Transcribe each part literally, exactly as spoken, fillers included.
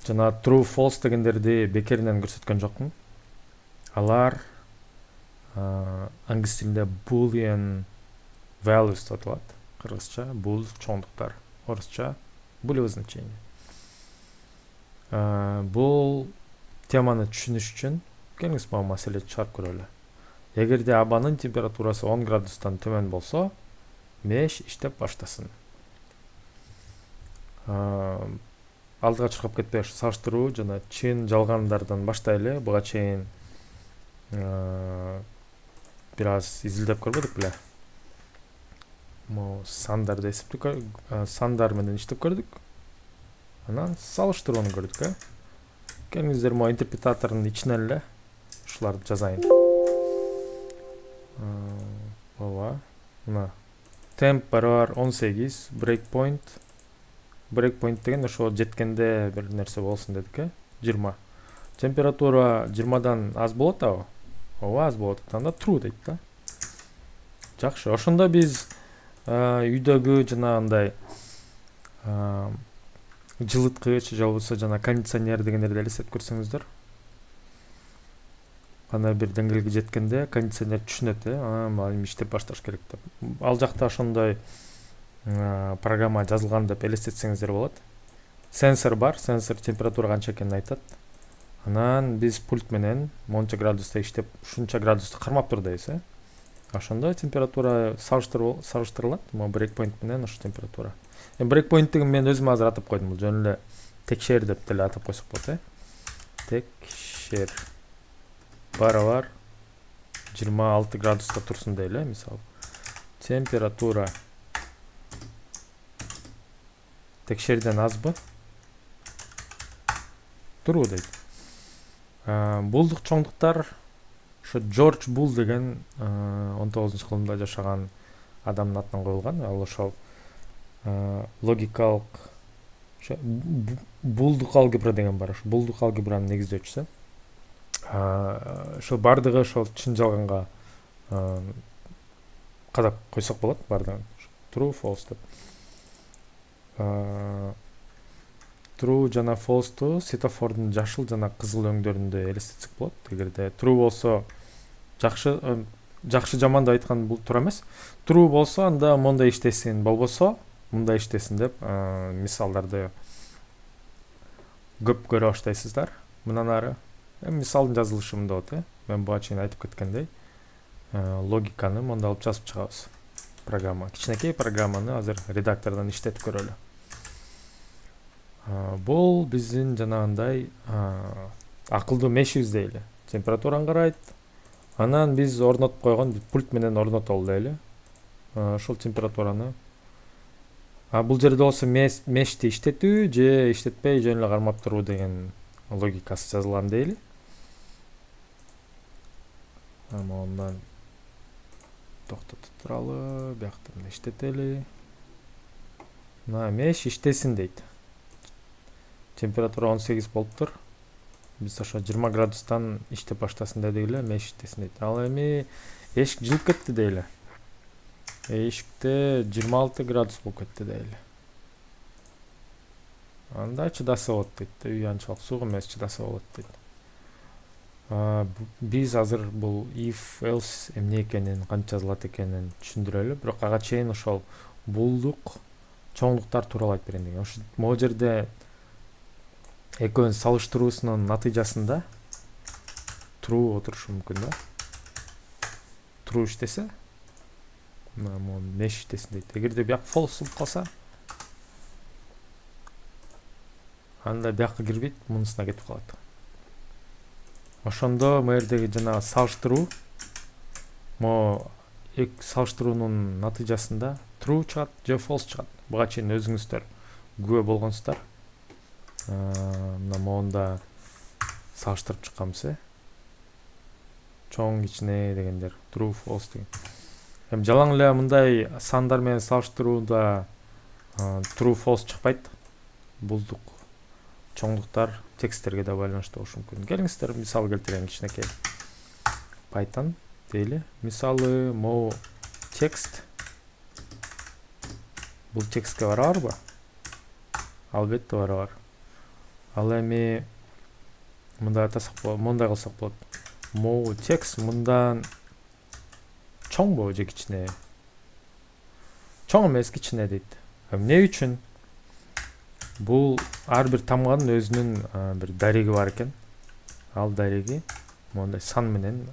жана true false дегендерди бекеринен көрсөткөн жокмун. Алар англис тилинде boolean values деп аталат. Кыргызча бул чоңдуктар, орусча булевое значение. Бул теманы түшүнүш үчүн келиңиз могу маселе чыгарып көрөлү. Эгерде абанын температурасы он градустан төмөн болсо, меш иштеп баштасын. Алдыга чуркап кетпей салыштыруу жана чын жалгандардан баштайлы. Буга чейин бир аз изилдеп көрбөдүк беле? Мо сандарды эсептеп, сандар менен иштеп көрдүк. Анан салыштырууну көрдүк, э? Келиңиздер мо интерпретатордун ичинен эле ушуларды жазайын. Ооба. Мына temp барабар он сегиз, breakpoint. Breakpoint деген ошо жеткенде бир нерсе болсун дедик, э? жыйырма. Температура жыйырмадан аз болот абы? Ооба, аз болот. Анда true дейт да. Жакшы. Ошондо биз үйдөгү жана андай жылыткыч же болбосо жана кондиционер дегендерди элестетип көрсөңүздөр. Ана бир деңгээлге жеткенде кондиционер түшүнөт, э? Анан эми иштеп башташ керек деп. Ал жакта ошондой программа жазылган деп элестетсеңиздер болот. Сенсор бар, сенсор температура канча экенин айтат. Анан биз пульт менен монча градуста иштеп, ушунча градусту кармап тур дейбиз, э? Ошондо температура салыштырылат, мо breakpoint менен ошо температура. Эми breakpoint деген мен өзүм азыр атап койдум, бул жөн эле текшер деп деле атап койсок болот, э? Текшер барабар жыйырма алты градуста турсун дейли, мисалы. Температура текшерден азбы? Туруу дейт. Булдук чоңдуктар ошо Джордж Бул деген он тогузунчу кылымда жашаган адамдын атынан коюлган. Ал ошол логикалык булдук алгебра деген бар. Ошо булдук алгебранын негиздөөчүсү. Ошо бардыгы ошол чын жалганга кадап койсок болот, бардыгын. True, false деп. True жана false'ту светофордун жашыл жана кызыл өңдөрүндө элестетсек болот. Эгерде true болсо жакшы жакшы жаманды айткан бул туура эмес. True болсо анда мондай иштесин, болбосо мындай иштесин деп мисалдарды көп көрө баштайсыздар. Мындан ары эми мисалдын жазылышы мындай болот, э? Мен буга чейин айтып кеткендей, логиканы монда алып жазып чыгабыз. Программа, кичинекей программаны азыр редактордон иштетип көрөлү. Бул биздин жанагындай акылдуу мешибиз дейли. Температураны карайт. Анан биз орнотуп койгон пульт менен орнотолу дейли. Ошол температураны. А бул жерде болсо мешти иштетүү же иштетпей жөн эле кармап туруу деген логикасы жазылган дейли. Ама ондан токтотуп туралы, биякта мына иштетели. Мына меш иштесин дейт. Температура он сегиз болуптур. Биз ошо жыйырма градустан иштеп баштасын дедик эле, меш иштесин дейт. Ал эми эшик жылып кетти дейли. Эшикте жыйырма алты градус болуп кетти дейли. Анда чыдаса болот дейт. Үй анчалык суук эмес, чыдаса болот дейт. Биз азыр бул if else эмне экенин, канча жазылат экенин түшүндүрөлү. Бирок ага чейин ошол булдук чоңдуктар тууралуу айтып берейин деген. Ошо могу жерде экөөнүн салыштыруусунун натыйжасында true отурушу мүмкүн да. True иштесе, мына меш иштесин дейт. Эгерде бияк false болуп калса, анда биякка кирбейт, мунусуна кетип калат. Ошондо мэрдеги жана салыштыруу, мо эки салыштыруунун натыйжасында true чыгат же false чыгат. Буга чейин өзүңүздөр күбө болгонсуздар. Мына монда салыштырып чыкканбыз, э? Чоң кичине дегендер, true false деген. Эми жалаң эле мындай сандар менен салыштырууда true false чыкпайт. Булдук чоңдуктар тексттерге да байланыштуу болушу мүмкүн. Келиңиздер мисал келтирейин кичинекей. Python дейли. Мисалы могу текст. Бул текстке барабарбы? Албетте барабар. Ал эми мындай атасак болот, мындай кылсак болот. Могу текст мындан чоңбу же кичине? Чоң эмес, кичине дейт. Эмне үчүн? Бул ар бир тамганын өзүнүн бир дареги бар экен. Ал дареги мондай сан менен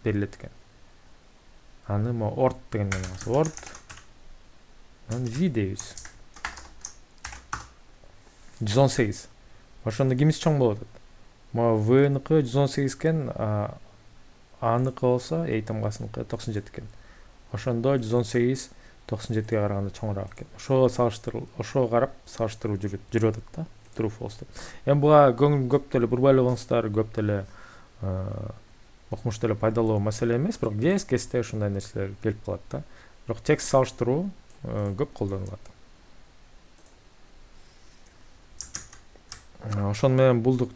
берилет экен. Аны мо ort деген эмес. Ort аны v дейбиз. жүз он сегиз. Ошондо кимиси чоң болот? Мо v-ныкы жүз он сегиз экен, a-ныкы болсо a тамгасыныкы токсон жети экен. Ошондо жүз он сегиз токсон жетиге караганда чоңураак экен. Ошого салыштырып, ошого карап салыштыруу жүрүп атат да. True false деп. Эми буга көп деле бурбай эле көп деле окумуш деле пайдалуу маселе эмес, бирок кез кезде ушундай нерселер келип калат да. Бирок текст салыштыруу көп колдонулат. Ошону менен булдук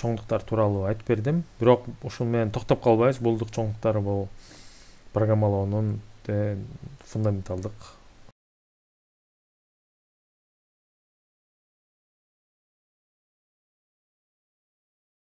чоңдуктар тууралуу айтып бердим. Бирок ушун менен токтоп калбайбыз. Булдук чоңдуктары бул программалоонун фундаменталдык